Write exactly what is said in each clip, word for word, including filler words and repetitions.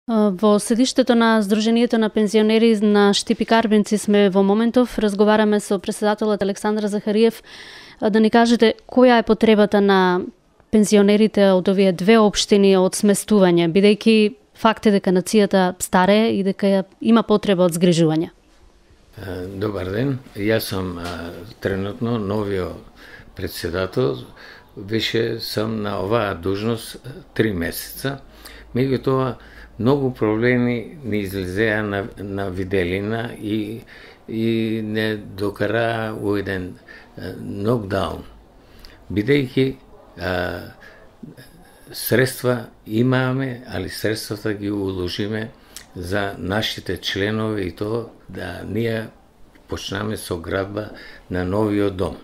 Во седиштето на Сдруженијето на пензионери на Штипи Карбинци сме во моментов. Разговараме со претседателот Александар Захариев. Да ни кажете која е потребата на пензионерите од овие две општини од сместување, бидејќи факт е дека нацијата старее и дека има потреба од згрижување. Добар ден, јас сум тренутно новиот претседател. Више сам на оваа должност три месеца. Меѓутоа, многу проблеми не излезеа на, на виделина и, и не докара у еден нокдаун. Бидејќи средства имаме, али средствата ги уложиме за нашите членови и тоа да ние почнаме со градба на новиот дом.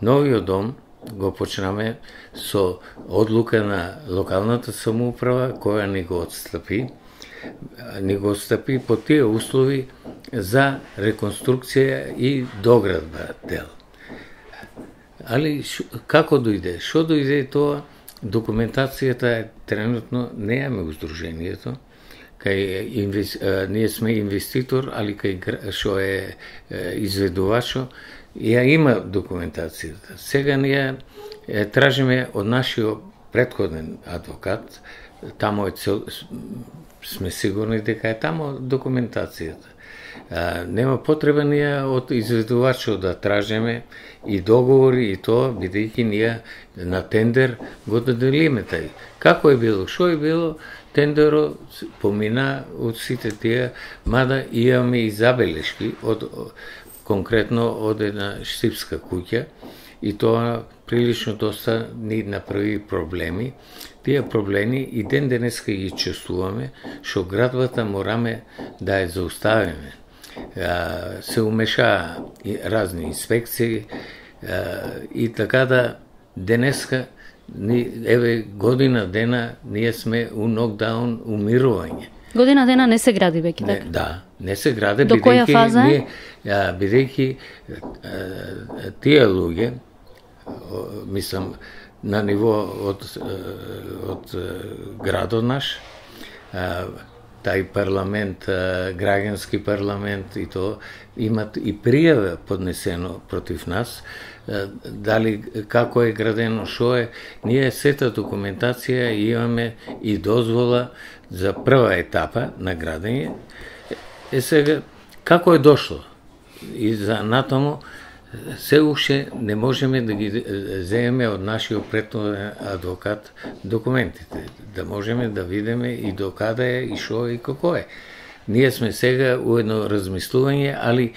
Новиот дом го почнаме со одлука на локалната самоуправа која ни го отстапи, ни го отстапи по тие услови за реконструкција и доградба дел. Али ш, како дојде? Што дојде тоа? Документацијата е тренутно неаме у Сдруженијето. Кај инвес, ние сме инвеститор, али кај што е изведувачо, ја има документацијата. Сега ние е, тражиме од нашиот претходен адвокат, тамо е цел, сме сигурни дека е тамо документацијата. А, нема потреба ние од изведувачот да тражиме и договори и тоа, бидејќи ние на тендер го доделиме тај. Како е било, што е било, тендерот помина од сите тие, мада имаме и забелешки од конкретно од една штипска куќа и тоа прилично доста ни направи проблеми. Тие проблеми и ден денеска ги чувствуваме, што градбата мораме да ја зауставиме. Се умешаа разни инспекции и така да денеска еве година дена ние сме у нокдаун, умирување. Година дена не се гради веќе, така? Да, не се гради, до која фаза е? Бидејќи тие луѓе, мислам, на ниво од, од градот наш, тај парламент, граѓански парламент и тоа, имат и пријава поднесено против нас, дали како е градено, што е, ние сета документација имаме и дозвола за прва етапа на градење. Е сега, како е дошло? И за натаму, се уште не можеме да ги земеме од нашиот претходен адвокат документите, да можеме да видиме и до каде е, и што е, и како е. Ние сме сега у едно размислување, али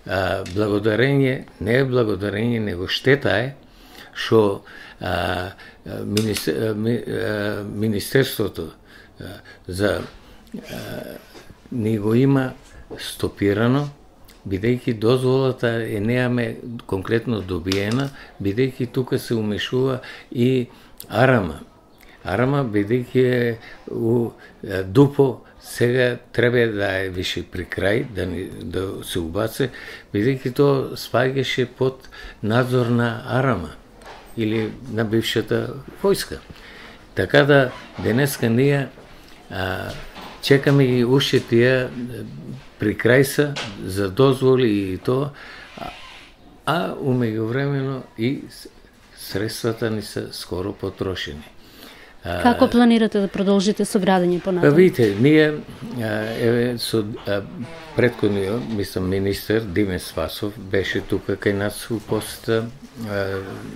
а, благодарење, не е благодарење, него штета е, што а, министер, ми, а, Министерството а, за а, ни го има стопирано, бидејќи дозволата е неаме конкретно добиена, бидејќи тука се умешува и Арама. Арама, бидејќи е у Дупо, сега треба да е више при крај, да, ни, да се убаце, бидејќи тоа спаѓаше под надзор на Арама или на бившата војска. Така да денеска ние а, чекаме и уште тие при крај са за дозволи и тоа, а умеѓувремено и средствата ни се скоро потрошени. Како планирате да продолжите со градење понатаму? Видите, ние еве со претходниот, мислам, министер Диме Спасов беше тука кај нас у посета,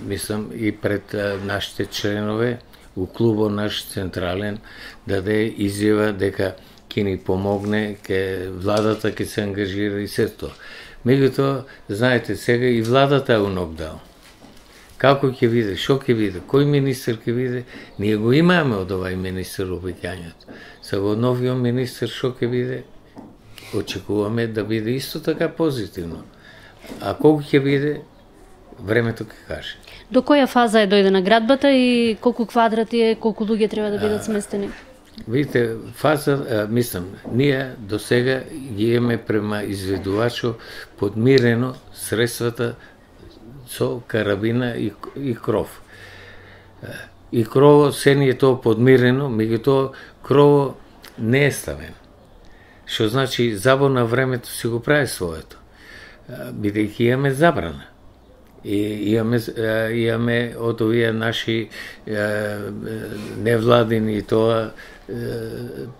мислам и пред нашите членове у клубот наш централен даде изјава дека ќе ни помогне, ке владата ќе се ангажира и се тоа. Меѓутоа, знаете, сега и владата е у нокдаун. Како ќе биде, што ќе биде, кој министер ќе биде, ние го имаме од овај министер обеќањето. Сега од новиот министер што ќе биде, очекуваме да биде исто така позитивно. А колку ќе биде, времето ќе каже. До која фаза е дојдена градбата и колку квадрати е, колку луѓе треба да бидат сместени? Видите, фаза, мислам, ние до сега ги имаме према изведувачо подмирено средствата со карабина и, и кров. И крово се ни е тоа подмирено, меѓутоа крово не е ставен. Што значи забор на времето си го прави своето. Бидејќи имаме забрана. И имаме, имаме од овие наши невладини тоа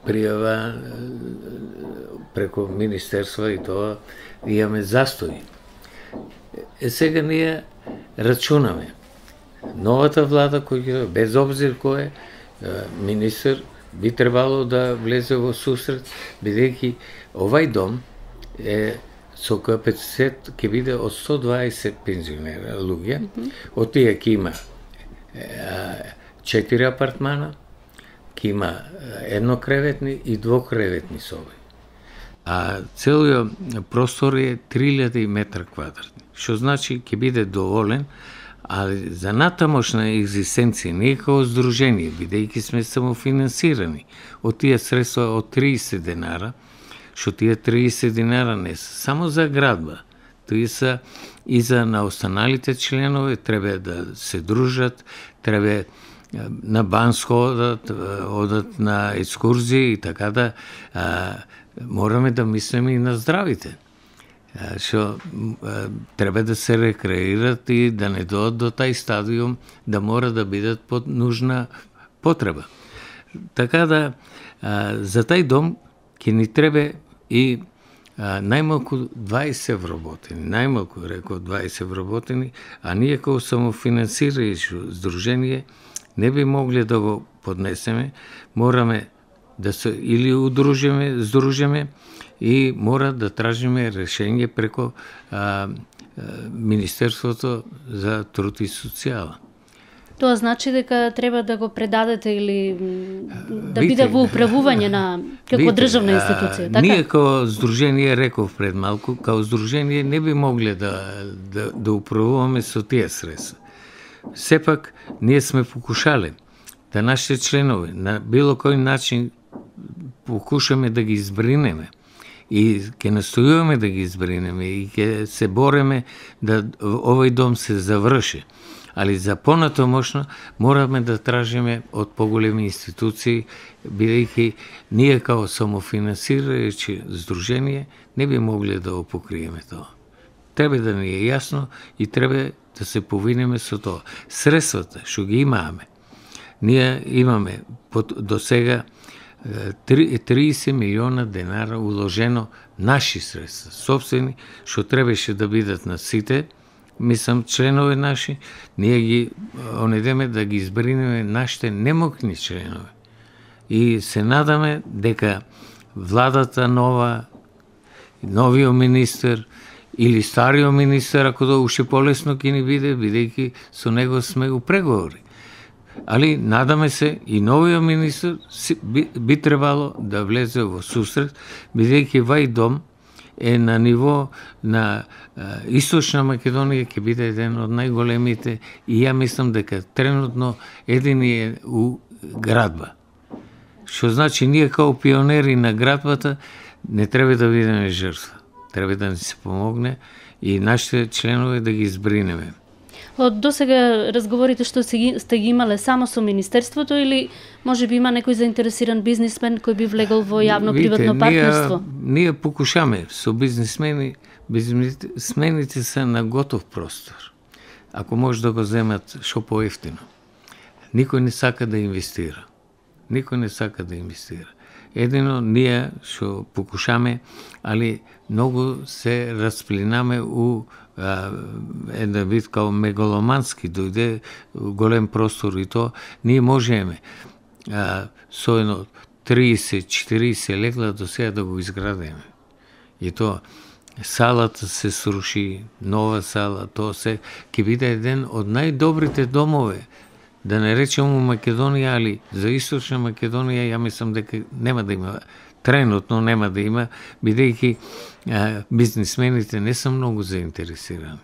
пријава преку министерства и тоа имаме застои. Е сега ние рачунаме. Новата влада која без обзир кој е министер би требало да влезе во сусрет, бидејќи овај дом е со капацитет ќе биде од сто дваесет пензионера луѓе, mm -hmm. од тие ќе има четири апартмана, ќе има еднокреветни и двокреветни соби. А целиот простор е три илјади метра квадратни, што значи ќе биде доволен, ali за натамошна екзистенција, ние како здружение, бидејќи сме самофинансирани од тие средства од триесет денара, што тие триесет денара не се само за градба, тие се и за на останалите членови, треба да се дружат, треба на Банско одат, одат на екскурзии и така да а, мораме да мислиме и на здравите. Што треба да се рекреират и да не дојдат до тај стадиум да мора да бидат под нужна потреба. Така да а, за тај дом ќе ни треба и а, најмалку дваесет вработени, најмалку реков дваесет вработени, а ние како самофинансирајќи здружение не би могли да го поднесеме, мораме да се или удружиме, здружиме и мора да тражиме решение преку а, а, Министерството за труд и социјала. Тоа значи дека треба да го предадете или да Вите, биде во управување на како Вите, државна институција, така? Ние како здружение, реков пред малку, како здружение не би могле да, да, да управуваме со тие средства. Сепак, ние сме покушале да нашите членови на било кој начин покушаме да ги избринеме и ќе настојуваме да ги избринеме и ќе се бореме да овој дом се заврши. Али за понатомошно мораме да тражиме од поголеми институции, бидејќи ние како самофинансирајќи здружение не би могли да го покриеме тоа. Треба да ни е јасно и треба да се повинеме со тоа. Средствата што ги имаме, ние имаме до сега триесет милиона денара уложено наши средства, собствени, што требаше да бидат на сите, мислам, членови наши, ние ги онедеме да ги избринеме нашите немокни членови. И се надаме дека владата нова, новиот министер или стариот министер, ако да уште полесно ќе ни биде, бидејќи со него сме у преговори. Али надаме се и новиот министер би, би требало да влезе во сусрет, бидејќи вај дом е на ниво на а, Источна Македонија, ќе биде еден од најголемите и ја мислам дека тренутно еден е у градба. Што значи ние како пионери на градбата не треба да бидеме жртва. Треба да ни се помогне и нашите членови да ги избринеме. Од досега разговорите што сте ги имале само со Министерството или може би има некој заинтересиран бизнисмен кој би влегол во јавно-приватно партнерство? Ние, ние покушаме со бизнисмени, бизнисмените се на готов простор. Ако може да го земат шо поевтино. Никој не сака да инвестира. Никој не сака да инвестира. Едино ние што покушаме, али многу се расплинаме у една вид као мегаломански, дојде голем простор и то, ние можеме а, со едно триесет четириесет легла до сега да го изградиме. И то салата се сруши, нова сала, то се ќе биде еден од најдобрите домове, да не речем у Македонија, али за Источна Македонија, ја мислам дека нема да има, тренутно нема да има, бидејќи бизнисмените не се многу заинтересирани.